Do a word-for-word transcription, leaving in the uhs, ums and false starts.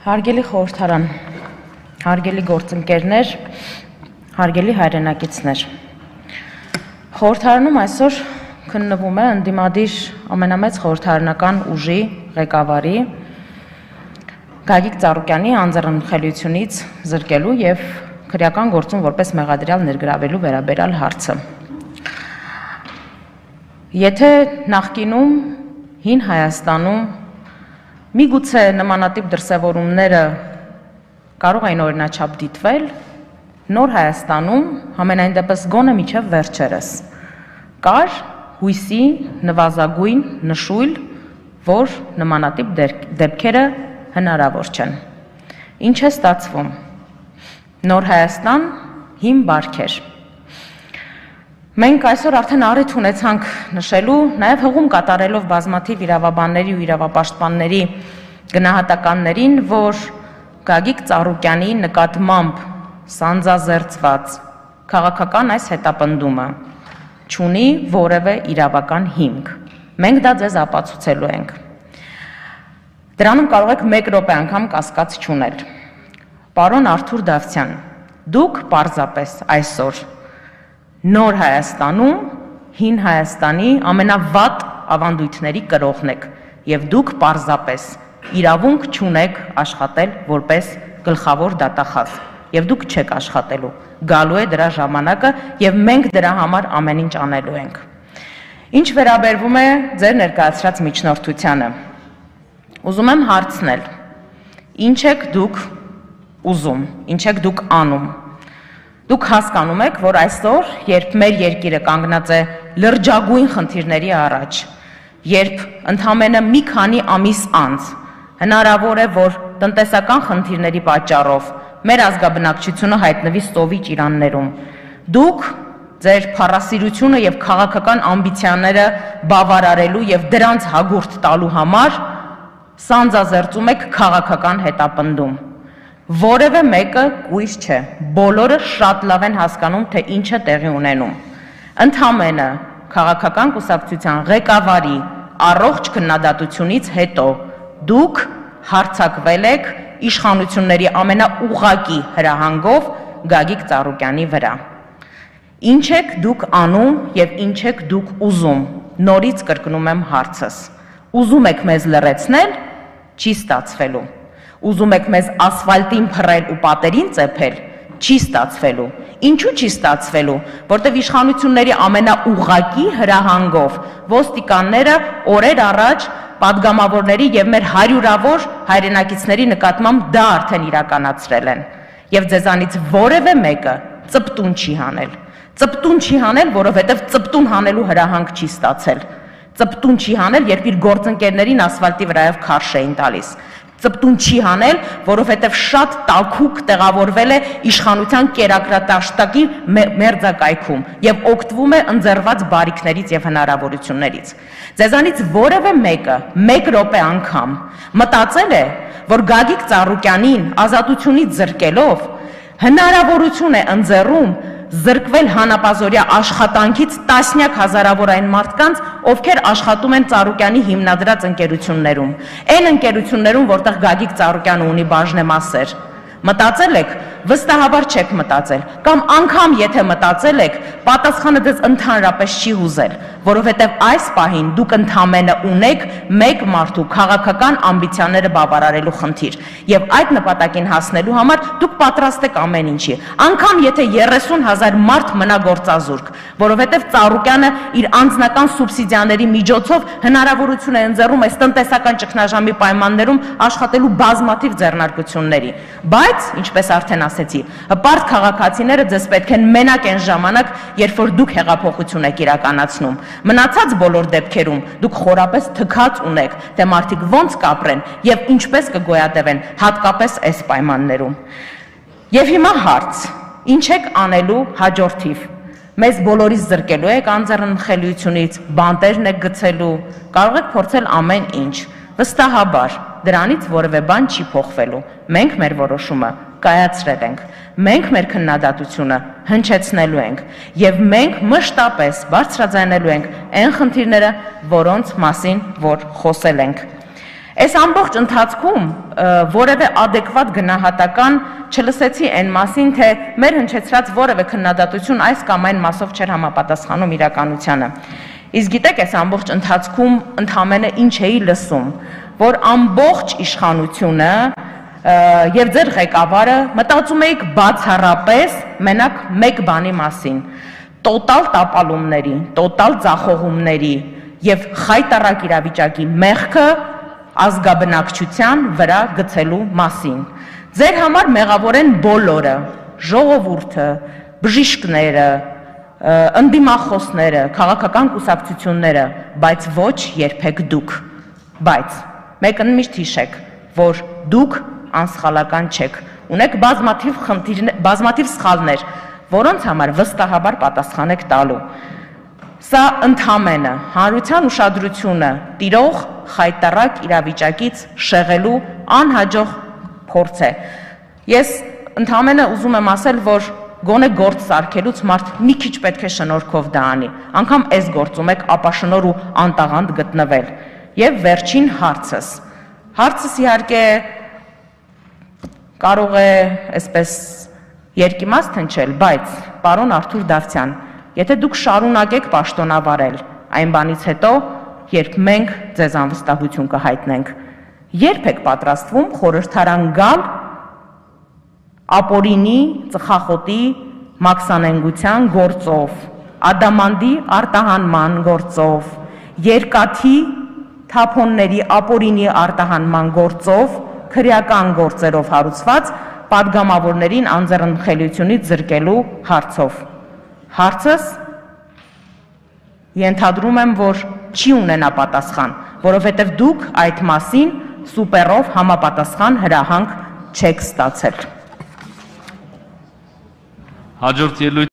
Հարգելի խորհրդարան, հարգելի գործընկերներ, հարգելի հայրենակիցներ, խորհրդարանում այսօր քննվում է ընդդիմադիր ամենամեծ խորհրդարանական ուժի ղեկավարի Գագիկ Ծառուկյանի անձեռնխելությունից զրկելու և քրեական գործում որպես մեղադրյալ ներգրավելու վերաբերյալ հարցը։ Եթե նախկինում հին Հայաստանում միգուցե նմանատիպ դրսևորումները կարող էին օրինաչափ դիտվել, նոր Հայաստանում համենայն դեպս գոնե մինչև վերջերս կար հույսի նվազագույն նշույլ, որ նմանատիպ դեպքերը հնարավոր չեն։ Ինչ է ստացվում։ Նոր Հայաստան հին բարքեր։ Մենք այսօր արդեն առիթ ունեցանք նշելու, նաև հղում կատարելով բազմաթիվ իրավաբանների ու իրավապաշտպանների գնահատականներին, որ Գագիկ Ծառուկյանի նկատմամբ սանձազերծված քաղաքական այս հետապնդումը չունի որևէ իրավական հիմք։ Մենք դա ձեզ ապացուցելու ենք։ Դրանում կարող եք մեկ րոպե անգամ կասկած չունել։ Պարոն Արթուր Դավթյան, դուք պարզապես այսօր Նոր Հայաստանում հին Հայաստանի ամենավատ ավանդույթների կրողն եք և դուք պարզապես իրավունք չունեք աշխատել որպես գլխավոր դատախազ և դուք չեք աշխատելու, գալու է դրա ժամանակը և մենք դրա համար ամեն ինչ անելու ենք։ Ինչ վերաբերվում է ձեր ներկայացրած միջնորդությանը, ուզում եմ հարցնել, ինչ եք դուք ուզում, ինչ եք դուք անում։ Դուք հասկանում եք, որ այսօր, երբ մեր երկիրը կանգնած է լրջագույն խնդիրների առաջ, երբ ընդամենը մի քանի ամիս անց հնարավոր է, որ տնտեսական խնդիրների պատճառով մեր ազգաբնակչությունը հայտնվի սովի ճիրաններում, դուք ձեր փառասիրությունը և քաղաքական ամբիցիաները բավարարելու և դրանց հագուրդ տալու համար սանձազերծում եք քաղաքական հետապնդում։ Որևէ մեկը կույս չէ, բոլորը շատ լավ են հասկանում, թե ինչ է տեղի ունենում։ Ընդամենը քաղաքական կուսակցության ղեկավարի առողջ քննադատությունից հետո դուք հարձակվել եք իշխանությունների ամենաուղղակի հրահանգով Գագիկ Ծառուկյանի վրա։ Ինչ եք դուք անում և ինչ եք դուք ուզում, նորից կրկնում եմ հարցս։ Ուզում եք մեզ լռեցնել, չի ստացվելու։ Ուզում եք մեզ ասֆալտին փռել ու պատերին ծեփել, չի ստացվելու։ Ինչու չի ստացվելու, որտեղ իշխանությունների ամենաուղղակի հրահանգով ոստիկանները օրեր առաջ պատգամավորների և մեր հարյուրավոր հայրենակիցների նկատմամբ դա արդեն իրականացրել են։ Եվ ձեզանից որևէ մեկը ծպտուն չի հանել։ Ծպտուն չի հանել, որովհետև ծպտուն հանելու հրահանգ չի ստացել։ Ծպտուն չի հանել, երբ իր գործընկերներին ասֆալտի վրայով քարշ էին տալիս։ Ծպտուն չի հանել, որովհետև շատ տաքուկ տեղավորվել է իշխանության կերակրատաշտակի մերձակայքում և օգտվում է ընձեռված բարիքներից և հնարավորություններից։ Ձեզանից որևէ մեկը մեկ րոպե անգամ մտածել է, որ Գագիկ Ծառուկյանին ազատությունից զրկելով հնարավորություն է ընձեռում զրկվել հանապազօրյա աշխատանքից տասնյակ հազարավոր այն մարդկանց, ովքեր աշխատում են Ծառուկյանի հիմնադրած ընկերություններում, այն ընկերություններում, որտեղ Գագիկ Ծառուկյանը ունի բաժնեմասեր։ Մտածել եք, վստահաբար չեք մտածել, կամ անգամ եթե մտածել եք, պատասխանը ձեզ ընդհանրապես չի հուզել, որովհետև այս պահին դուք ընդամենը ունեք մեկ մարդու քաղաքական ամբիցիաները բավարարելու խնդիր, և այդ նպատակին հասնելու համար դուք պատրաստ եք ամեն ինչի, անգամ եթե երեսուն հազար մարդ մնա գործազուրկ, որովհետև Ծառուկյանը իր անձնական սուբսիդիաների միջոցով հնարավորություն է ընձեռում այս տնտեսական ճգնաժամի պայմաններում աշխատելու բազմաթիվ ձեռնարկությունների, բայց, ինչպես արդեն ասեցի, հպարտ քաղաքացիները ձեզ պետք են մենակ այն ժամանակ, երբ որ դուք հեղափոխություն եք իրականացնում։ Մնացած բոլոր դեպքերում դուք խորապես թքած ունեք, թե մարդիկ ոնց կապրեն և ինչպես կգոյատևեն, հատկապես այս պայմաններում։ Եվ հիմա հարց, ինչ եք անելու հաջորդիվ։ Մեզ բոլորից զրկելու եք անձեռնխելությունից, բանտերն եք գցելու, կարող եք փորձել ամեն ինչ։ Վստահաբար, դրանից որևէ բան չի փոխվելու։ Մենք մեր որոշումը կայացրել ենք։ Մենք մեր քննադատությունը հնչեցնելու ենք և մենք մշտապես բարձրաձայնելու ենք այն խնդիրները, որոնց մասին որ խոսել ենք։ Այս ամբողջ ընթացքում որևէ adekvat գնահատական չլսեցի այն մասին, թե մեր հնչեցրած որևէ քննադատություն այս կամ այն մասով չէր համապատասխանում իրականությանը։ Իսկ գիտեք, այս ամբողջ ընթացքում ընդամենը ինչ էի լսում, որ ամբողջ իշխանությունը եւ ձեր ղեկավարը մտածում էիք բացառապես մենակ մեկ բանի մասին՝ տոտալ տապալումների, տոտալ ձախողումների եւ խայտառակ իրավիճակի մեղքը ազգաբնակչության վրա գցելու մասին։ Ձեր համար մեղավոր են բոլորը՝ ժողովուրդը, բժիշկները, ընդդիմախոսները, քաղաքական կուսակցությունները, բայց ոչ երբեք դուք։ Բայց մեկն միշտ հիշեք, որ դուք անսխալական չեք, ունեք բազմաթիվ խնդիրներ, բազմաթիվ սխալներ, որոնց համար վստահաբար պատասխան եք տալու։ Սա ընդամենը հանրության ուշադրությունը տիրող խայտառակ իրավիճակից շեղելու անհաջող փորձ է։ Ես ընդամենը ուզում եմ ասել, որ գոնե գործ սարքելուց մարդ մի քիչ պետք է շնորհքով դա անի, անգամ այս գործում եք ապաշնոր ու անտաղանդ գտնվել։ Եվ վերջին հարցս։ Հարցս իհարկե կարող է այսպես երկիմաստ հնչել, բայց պարոն Արթուր Դավթյան, եթե դուք շարունակեք պաշտոնավարել այն բանից հետո, երբ մենք ձեզ անվստահություն կհայտնենք, երբ եք պատրաստվում խորհրդարան գալ ապօրինի, ծխախոտի, մաքսանենգության գործով, ադամանդի արտահանման գործով, երկաթի թափոնների ապօրինի արտահանման գործով, քրեական գործերով հարուցված պատգամավորներին անձեռնխելիությունից զրկելու հարցով։ Հարցս ենթադրում եմ, որ չի ունենա պատասխան, որովհետև դուք այդ մասին սուպերով համապատասխան հրահանգ չեք ստացել։ Հաջորդ ելույթ